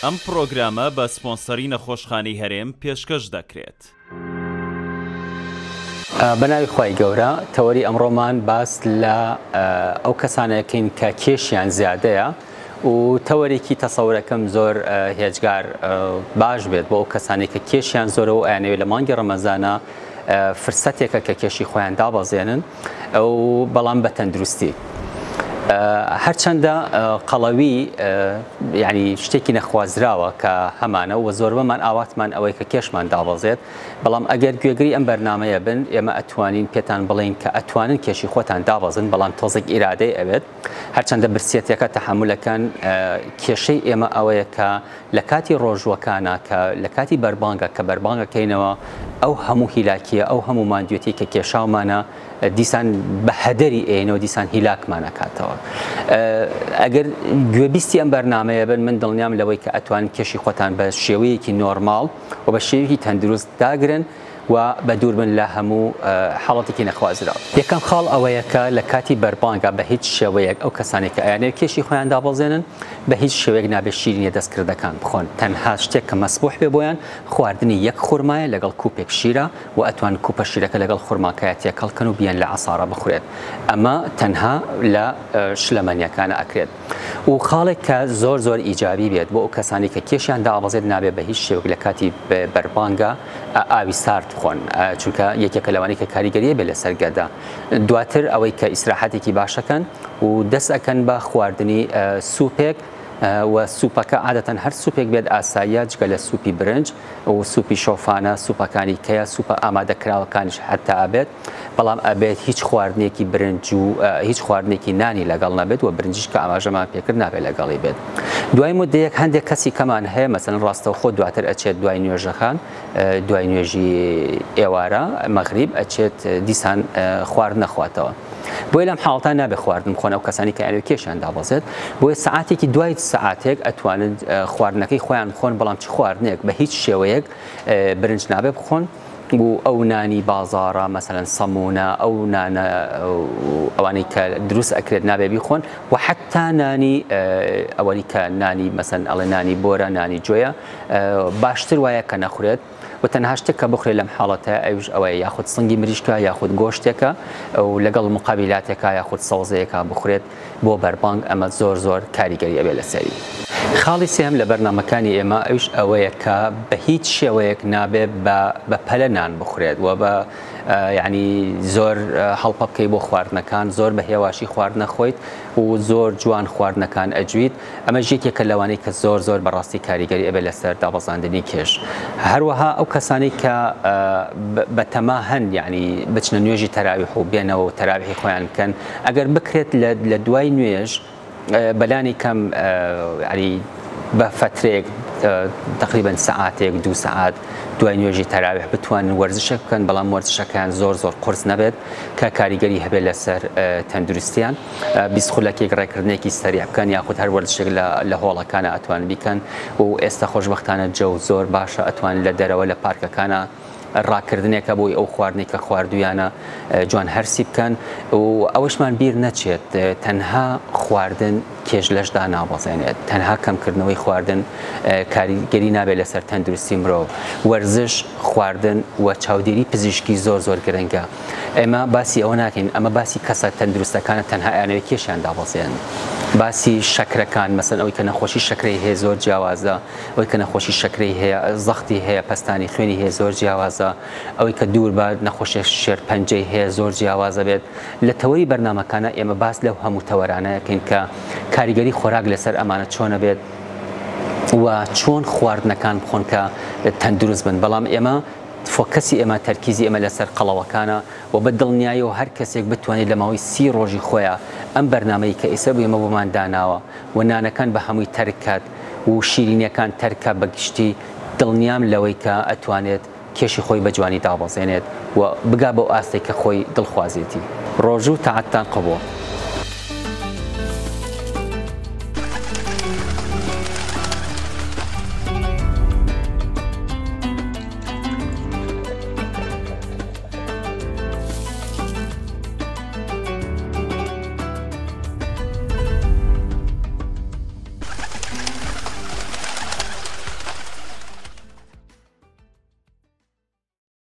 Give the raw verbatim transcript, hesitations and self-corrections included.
ئەم پرۆگرامە بە سپۆنسەری نەخۆشخانەی هەرێم پێشکەش دەکرێت. بە ناوی خوای گەورە، تەوەری ئەمڕۆمان باس لە ئەو کەسانەکەین کە کێشیان زیادەیە و تەوەرێکی تەسەورەکەم زۆر هێجگار باش بێت بۆ ئەو کەسانێک کە کێشیان زۆرە و ئەیانەوێت لە مانگی ڕەمەزانە فرسەتێکە کە کێشی خۆیان دابەزێنن ئەو بەڵام بە تەندروستی. هەرچەندە قەڵەوی یعنی شتێکی نەخوازراوە کە هەمانە و زۆربەمان ئاواتمان ئەوەی کە کێشمان دابەزێت، بەڵام ئەگەر گوێگری ئەم بەرنامەیە بن ئێمە ئەتوانین پێتان بڵین کە ئەتوانن کێشی خۆتان دابەزن، بەڵام تۆزێک ئیرادەی ئەوێت. هەرچەندە برسیەتەکە تەحەمولەکەن، کێشەی ئێمە ئەوەیە کە لە کاتی ڕۆژوەکانە کە لە کاتی بەربانگە کە بەربانگەکەینەوە ئەو هەموو هیلاکیە، ئەو هەموو ماندوێتی کە کێشاومانە دیسان بە هەدەری ئێنەوە دیسان هیلاکمان ئەکاتەوە. ئەگەر گوێبیستی ئەم بەرنامەیە بن، من دڵنیام لەوەی کە ئەتوانن کێشی خۆتان بە شێوەیەکی نۆرماڵ و بە شێوەیەکی تەندروست داگرن و بە دوور بن لە هەموو حاڵەتێکی نەخوازراو. یەکەم خاڵ ئەوەیە کە لە کاتی بەربانگە بە هیچ شێوەیەک ئەو کەسانێک کە ئەیانەوێت کێشی خۆیان دابەزێنن بە هیچ شێوەیەک نابێت شیرینیە دەستکردەکان بخۆن. تەنها شتێک کە مەسبوح بێ بۆیان خواردنی یەک خورمایە لەگەڵ کوپێک شیرە و ئەتوان کوپە شیرەکە لەگەڵ خورماکەیە تێکەڵکەن و بیان لە عەسارە بخورێت. ئەمە تەنها لە شلەمەنیەکانە ئەکرێت. و خاڵێک کە زۆر زۆر ئیجابی بێت بۆ ئەو کەسانی کە کێشیان دابەزێت نابێت بە هیچ شێوەیەک لە کاتی بەربانگە ئاوی سارد بخۆن، چونکە یەکێکە لەوانەی کە کاریگەریە بێت لەسەر گەدە. دواتر ئەوەی کە ئیسراحەتێکی باشەکەن و دەست ئەکەن بە خواردنی سوپێک و سوپەکە عادەتەن هەر سوپێک بێت ئاساییە، جگە لە سوپی برنج و سوپی شۆفانە، سوپەکانی کەیە، سوپە ئامادەکراوەکانیش حتا ئەبێت، بەڵام ئەبێت هیچ خواردنێکی برنج و هیچ خواردنێکی نانی لەگەڵ نەبێت و برنجیش کە ئاماژەمان پێکرد نابێت لەگەڵی بێت. دوای مدەیەک هەندێک کەسی کەمان هەیە مەسەن ڕاستەوخۆ دواتر ئەچێت دوای نوێژەکان، دوای نوێژی ئێوارە مەغریب ئەچێت دیسان خوارد نەخواتەوە. بۆیە لەم حاڵەتە نابێت خواردن بخۆن ئەو کەسانی کە ئەیانەوێت کێشیان دابەزێت. بۆیە سەعاتێکی دوای سەعاتێک ئەتوانن خواردنەکەی خۆیان بخۆن، بەڵام چ خواردنێک بە هیچ شێوەیەک برنج نابێت بخۆن و ئەو نانی بازارە مەسەلەن سەمونە، ئەو نانە ئەوانەی کە دروست ئەکرێت نابێ بیخۆن و حتا نانی ئەوەی کە نانی مەسەن ئەڵێ نانی بۆرە، نانی جۆیە، باشتر وایە کە نەخورێت. و تەنها شتێک کە بخورێت لەم حاڵەتە ئەوش ئەوەیە یاخود سنگی مریشکە یاخود گۆشتێکە و لەگەڵ مقابلاتێکە یاخود سەوزەیەکە بخورێت بۆ بەربانگ. ئەمە زۆر زۆر کاریگەری ئەبێت لەسەری. خاڵی سێهەم لە بەرنامەکانی ئێمە ئەوش ئەوەیە کە بە هیچ شێوەیەک نابێت بە پەلە نان بخورێت و بە یعنی زۆر هەڵپە بکەی بۆ خواردنەکان، زۆر بە هێواشی خواردنە خۆیت و زۆر جوان خواردنەکان ئەجویت. ئەمە یەکێکە لەوانەی کە زۆر زۆر بەڕاستی کاریگەری ئەبێت لەسەر دابەزاندنی کێش. هەروەها ئەو کەسانەی کە بەتەما هەن یعنی بچنە نوێژی تەراویح و بێنەوە و تەراویحی خۆیان بکەن، ئەگەر بکرێت لە دوای نوێژ بەلانی کەم یعنی بە فترەیەک تقریبا سەعاتێک دوو سەعات دوای نوێژی تەراویح بتوانن وەرزشێک بکەن، بەڵام وەرزشەکەیان زۆر زۆر قورس نەبێت کە کاریگەری هەبێت لەسەر تەندروستیان. بیست خولەکێک ڕێکردنێکی سەریع بکەن یاخود هەر وەرزشێک لە هۆڵەکانە ئەتوان بیکەن. و ئێستا خۆشبەختانە جەو زۆر باشە، ئەتوان لە دەرەوە لە پارکەکانە ڕاکردنێکە بۆی ئەو خواردنێک کە خواردویانە جوان هەرسی بکەن. و ئەوەشمان بیر نەچێت تەنها خواردن کێش لەشدا نابەزێنێت، تەنها کەمکردنەوەی خواردن کاریگەری نابێت لەسەر تەندروستی مرۆڤ. وەرزش، خواردن و چاودێری پزیشکی زۆر زۆر گرنگە. ئێمە باسی ئەوە ناکەین، ئەمە باسی کەسە تەندروستەکانە تەنها ئەیانەوێت کێشیان دابەزێنن. باسی شەکرەکان مەسەن ئەوەی کە نەخۆشی شەکرەی هەیە زۆر جیاوازە، ئەوەی کە نەخۆشی شەکرەی هەیە زەختی هەیە پەستانی خوێنی هەیە زۆر جیاوازە، ئەوەی کە دوور بە نەخۆشی شێرپەنجەی هەیە زۆر جیاوازە بێت. لە تەوەری بەرنامەکانە ئێمە باس لەو هەموو تەوەرانەیەکەین کە کاریگەری خۆراک لەسەر ئەمانە چۆنە بێت و چۆن خواردنەکان بخۆن کە تەندروست بن. بەڵام ئێمە فۆکەسی ئێمە تەرکیزی ئێمە لەسەر قەڵەوەکانە و بە دڵنیاییەوە هەر کەسێک بتوانێت لە ماوەی سی ڕۆژی خۆیان ئەم بەرنامەی کە ئێستا بۆ ئێمە بۆمان داناوە و نانەکان بە هەمووی تەرک کات و شیرینیەکان تەرکە بە گشتی، دڵنیام لەوەی کە ئەتوانێت کێشی خۆی بە جوانی دابەزێنێت و بگا بەو ئاستێک کە خۆی دڵخوازێتی. ڕۆژ و تاعەتتان قبوڵ.